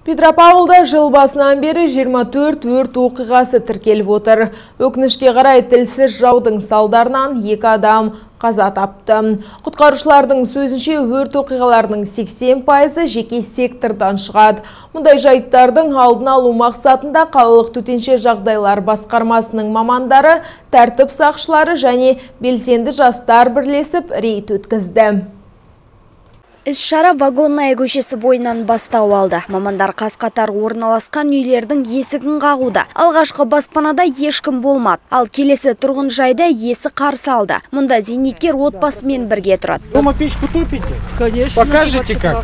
Петропавлда жыл басынан бері 24 өрт оқиғасы тіркеліп отыр. Өкінішке қарай тілсіз жаудың салдарынан 2 адам қаза тапты. Құтқарушылардың сөзінше өрт оқиғаларының 80% жеке сектордан шығады. Мұндай жайттардың алдын алу мақсатында қалалық төтенше жағдайлар басқармасының мамандары, тәртіп сақшылары және белсенді жастар бірлесіп рейд өткізді. Іс-шара Вагонная көшесі бойынан бастау алды. Мамандар қаз-қатар орналасқан үйлердің есігін қағуда. Алғашқы баспанада ешкім болмады. Ал келесі тұрғын жайда есі қарсы алды. Мұнда зейнеткер отбасымен бірге тұрады. Дома печку топите? Конечно. Покажите как?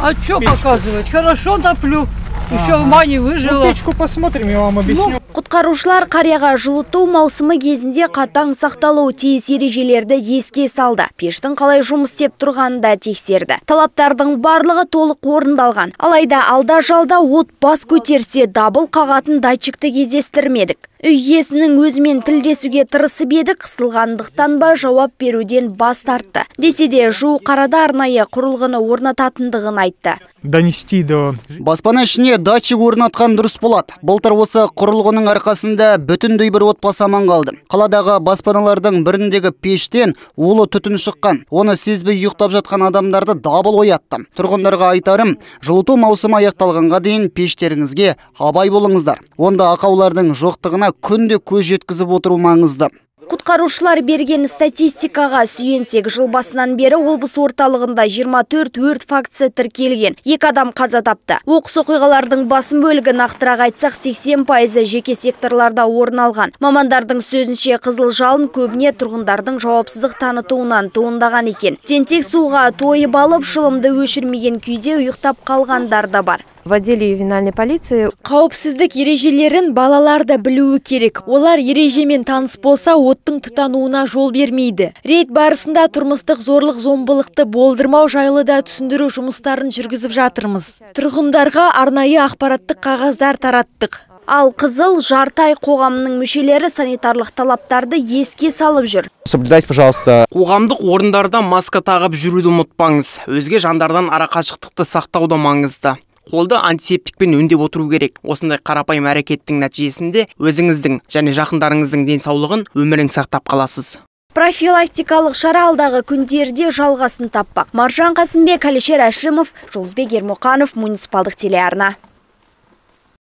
А что показывать? Хорошо топлю. Еще в мане выжила. Печку посмотрим, я вам объясню. Құтқарушылар қарияға жылыту маусымы кезінде қатаң сақталуы тиіс ережелерді еске салды. Пештің қалай жұмыс істеп тұрғанын да тексерді. Талаптардың барлығы толық орындалған. Алайда алда-жалда от бас көтерсе дабыл қағатын датчикті кездестірмедік. Үй иесінің өзімен тілдесуге тырысып еді, қысылғандықтан ба жауап беруден бас тартты. Десе де жуық арада арнайы құрылғыны орнататындығын айтты. Донести до... Баспана ішіне датчик орнатқан дұрыс болады. Былтыр осы құрылғының арқасында бүтіндей бір отбасы аман қалды. Қаладағы баспаналардың біріндегі пештен улы түтін шыққан. Оны сезбей ұйықтап жатқан адамдарды дабыл оятты. Тұрғындарға айтарым, жылыту маусымы аяқталғанға дейін пештеріңізге абай болыңыздар. Онда ақаулардың жоқтығына күнде көз жеткізіп отыру маңызды. Құтқарушылар берген статистикаға сүйенсек, жыл басынан бері облыс орталығында 24 өрт фактісі тіркелген. 2 адам қаза тапты. Оқыс оқиғалардың басым бөлігі нақтырақ айтсақ 80% жеке секторларда орын алған. Мамандардың сөзінше қызыл жалын көбіне тұрғындардың жауапсыздық танытуынан туындаған екен. Тентек суға тойып алып, шылымды өшірмеген күйде ұйықтап қалғандар да бар. В отделе ювенальной полиции қауіпсіздік ережелерін балалар да білуі керек. Олар ережемен таныс болса, оттың тұтануына жол бермейді. Рейд барысында тұрмыстық зорлық зомбылықты болдырмау жайлы да түсіндіру жұмыстарын жүргізіп жатырмыз. Тұрғындарға арнайы ақпараттық қағаздар тараттық. Ал қызыл жартай қоғамының мүшелері санитарлық талаптарды еске салып жүр. Соблюдайте, пожалуйста. Қоғамдық орындарда маска тағып жүруді ұмытпаңыз. Өзге жандардан арақашықтықты сақтауды маңызды. Қолды антисептикпен өңдеп отыру керек. Осындай қарапайым әрекеттің нәтижесінде өзіңіздің және жақындарыңыздың денсаулығын, өмірін сақтап қаласыз. Профилактикалық шара алдағы күндерде жалғасын таппақ. Маржан Қасымбек, Әлішер Әшімов, Жұлдызбек Ермұқанов, муниципалдық телеарна.